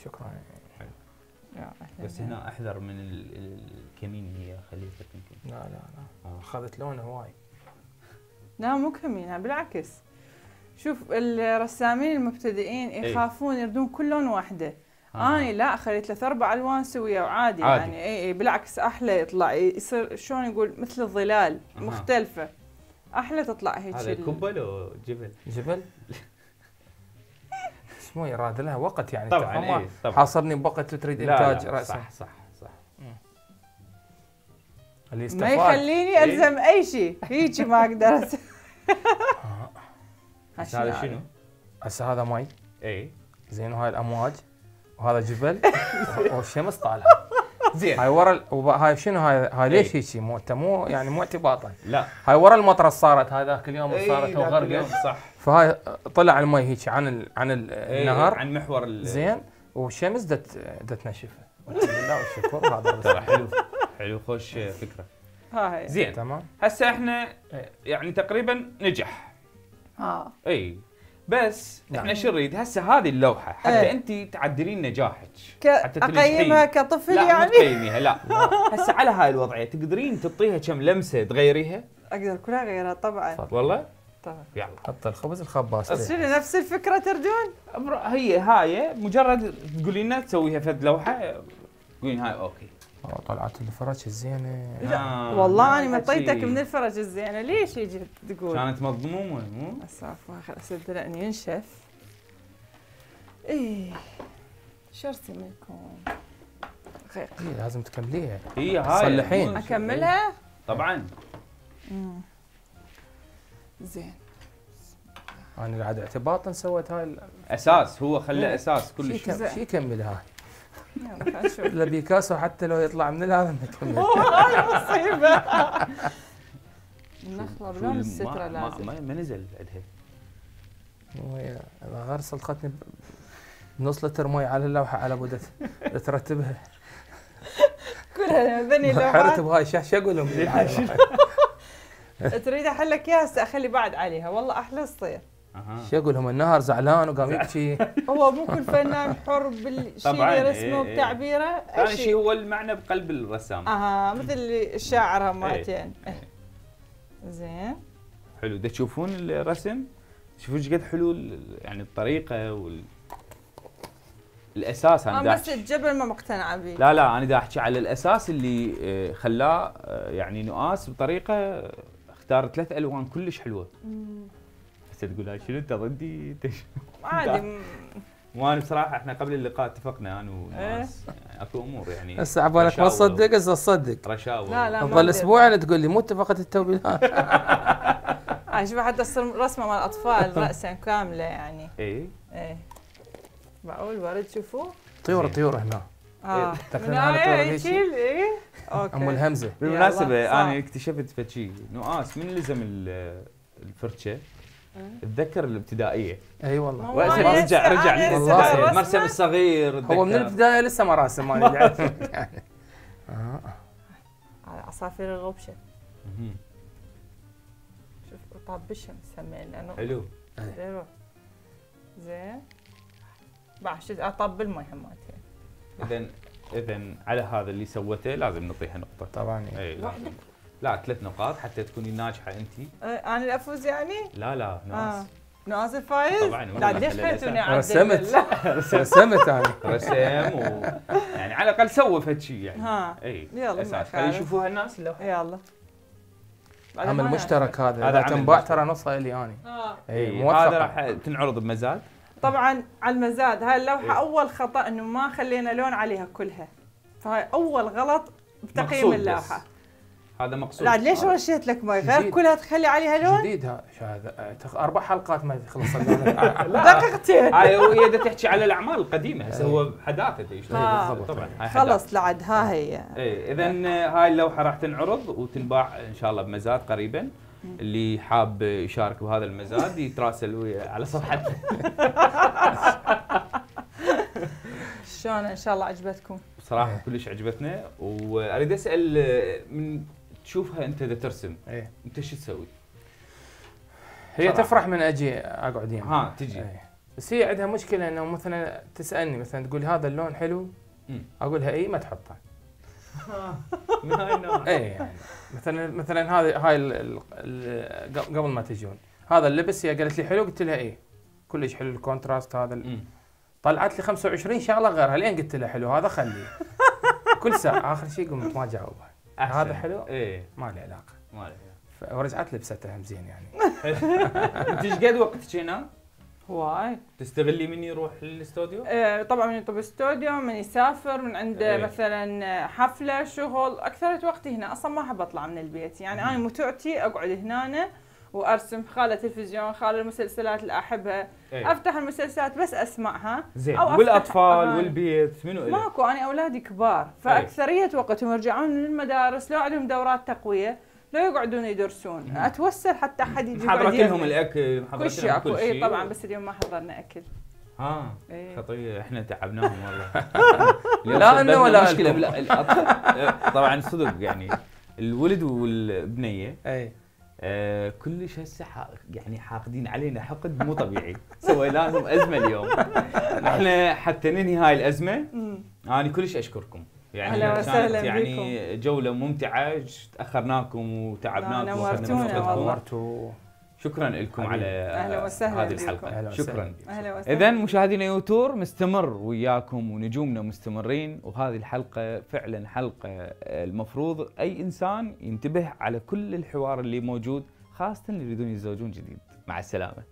شكرا. يا بس هنا احذر من الكمين هي خليتك يمكن. لا لا لا اخذت لونه هواي. لا مو كمين بالعكس. شوف الرسامين المبتدئين يخافون يردون كل لون واحده. اني لا خليت له 4 الوان سويه وعادي عادي. يعني اي بالعكس احلى يطلع يصير شلون يقول مثل الظلال مختلفه. احلى تطلع هيك هذا كبه لو جبل؟ جبل اسمه يراد لها وقت يعني. طبعا ما إيه طبعا. حاصرني بوقت تريد لا انتاج لا راسا. صح. اللي ما استفاد يخليني الزم اي شيء هيك ما اقدر هذا شنو؟ هسه هذا مي اي زين، وهاي الامواج وهذا جبل والشمس طالعه زين. هاي ورا هاي شنو هاي ليش هيك مو يعني مو اعتباطا. لا هاي ورا المطره صارت هذاك اليوم إيه، صارت ذاك اليوم، وغرقت. صح. فهاي طلع المي هيك عن إيه، النهر عن محور زين، والشمس دت نشفه والحمد لله والشكر. هذا ترى حلو خوش فكره. هاي زين تمام. هسه احنا يعني تقريبا نجح. اي بس احنا شو نريد هسه هذه اللوحه حتى انت تعدلين نجاحك، حتى اقيمها كطفل لا يعني؟ مو تقيميها لا. هسه على هاي الوضعيه تقدرين تعطيها كم لمسه تغيريها؟ اقدر كلها اغيرها طبعا. والله طبعا. يلا حط الخبز الخباز. بس شنو نفس الفكره تردون؟ هي هاي مجرد تقولي لنا تسويها فد لوحه تقولين هاي اوكي. طلعت الفرش الزينه. والله انا مطيتك من الفرج الزينه، ليش يجي تقول؟ كانت مضمومه مو؟ اسف صدقني ينشف. ايه شو ارسم لكم؟ إيه لازم تكمليها. هي هاي تصلحين. اكملها؟ طبعا. زين. انا قاعد اعتباطا سويت هاي اساس، هو خلى اساس كل شيء. شو يكمل هاي؟ يلا خلينا نشوف. لا بيكاسو حتى لو يطلع من هذا ما يكمل. هاي مصيبه. النخله بلون الستره لازم. ما نزل عندها. وهي غير صلختني بنص لتر مي على اللوحه على بود ترتبها. كلها ذني حرت لوحات. بهاي شو اقول لهم؟ تريد احلك اياها هسه اخلي بعد عليها، والله احلى تصير. شو اقول لهم؟ النهر زعلان وقام يبكي. هو مو كل فنان حر بالشيء اللي رسمه وبتعبيره. ثاني شيء هو المعنى بقلب الرسام. مثل الشاعر هماتين. زين حلو. دا تشوفون الرسم؟ شوفوا ايش قد حلو يعني الطريقه الاساس. انا بس الجبل ما مقتنعه به. لا انا دا احكي على الاساس اللي خلاه يعني نؤاس بطريقه. اختار 3 الوان كلش حلوه. هسه تقول هاي شنو انت ضدي؟ عادي. وانا بصراحه احنا قبل اللقاء اتفقنا انا وناس يعني اكو امور يعني هسه عبالك ما تصدق هسه تصدق. رشاوه. لا تظل اسبوع تقول لي مو اتفقت التوبيلات. شوف حتى تصير رسمه مال الاطفال راسا كامله يعني. ايه معقول ورد شوفوه؟ طيور هنا. من هاي يشيل. اوكي. ام الهمزه. بالمناسبه انا اكتشفت فشي نؤاس من لزم الفرشه. اتذكر الابتدائيه. اي والله. رجع والله المرسم الصغير. هو من البدايه لسه ما راسم يعني. عصافير الغبشه. شوف طابشهم مسمين لانه حلو. زين. بعد اطب المي هماتين. اذا على هذا اللي سوته لازم نعطيها نقطه. طبعا. اي لازم. لا 3 نقاط حتى تكوني ناجحه انت. انا اللي افوز يعني؟ لا ناس. ناس الفايز؟ طبعا. لا ليش خليتوني اعدل؟ رسمت انا. رسم يعني على الاقل سوى فد شيء يعني. اي يلا اساس خلي يشوفوها الناس اللوحه. يلا. عمل مشترك هذا تنباع ترى نصها لي انا. اي هذا راح تنعرض بمزاد. طبعا على المزاد. هاي اللوحه اول خطا انه ما خلينا لون عليها كلها، فهاي اول غلط بتقييم اللوحه. هذا مقصود. لا ليش رشيت لك مي غير كلها تخلي عليها لون؟ جديد هذا 4 حلقات ما يخلص. دقيقتين. هاي هي تحكي على الاعمال القديمه. هسه هو حداثه طبعا. خلص لعد ها هي. اذا هاي اللوحه راح تنعرض وتنباع ان شاء الله بمزاد قريبا. اللي حاب يشارك بهذا المزاد يتراسل ويا على صفحتنا. شلون ان شاء الله عجبتكم؟ بصراحه كلش عجبتنا. واريد اسال من تشوفها انت اذا ترسم انت شو تسوي؟ هي تفرح من اجي اقعد يمها. تجي. بس هي عندها مشكله انه مثلا تسالني مثلا تقول هذا اللون حلو. اقولها اي ما تحطه. من هاي النوع. يعني مثلا هاي قبل ما تجون هذا اللبس هي قالت لي حلو قلت لها ايه كلش حلو الكونتراست هذا. طلعت لي 25 شغله غيرها لين قلت لها حلو هذا خليه. كل ساعه اخر شيء قمت ما جاوبها. هذا حلو؟ ايه ما له علاقه. ورجعت لبستها هم زين يعني. انت ايش قد وقتك هنا؟ هواي. تستغلي من يروح للاستوديو؟ طبعا من يطلب استوديو، من يسافر، من عنده مثلا حفله، شغل. اكثر وقتي هنا، اصلا ما احب اطلع من البيت، يعني انا متعتي اقعد هنا وارسم، خاله تلفزيون، خاله المسلسلات اللي احبها، افتح المسلسلات بس اسمعها. زين. والاطفال والبيت منو إلك؟ ماكو، انا اولادي كبار، فاكثريه وقتهم يرجعون من المدارس، لو عندهم دورات تقويه، لو يقعدون يدرسون، اتوسل حتى احد يجي محضرت لهم الاكل، محضرت لهم كل شيء. اي طبعا، بس اليوم ما حضرنا اكل. خطيه، احنا تعبناهم والله. لا انه ولا مشكله. طبعا صدق يعني الولد والبنيه كلش هسه يعني حاقدين علينا حقد مو طبيعي. سوينا لهم ازمه اليوم. احنا حتى ننهي هاي الازمه انا كلش اشكركم، يعني كانت يعني جوله ممتعه، تاخرناكم وتعبناكم نورتونا. شكرا لكم على هذه الحلقه. شكرا. اذا مشاهدينا يوتور مستمر وياكم ونجومنا مستمرين، وهذه الحلقه فعلا حلقه المفروض اي انسان ينتبه على كل الحوار اللي موجود، خاصه اللي يريدون يتزوجون جديد. مع السلامه.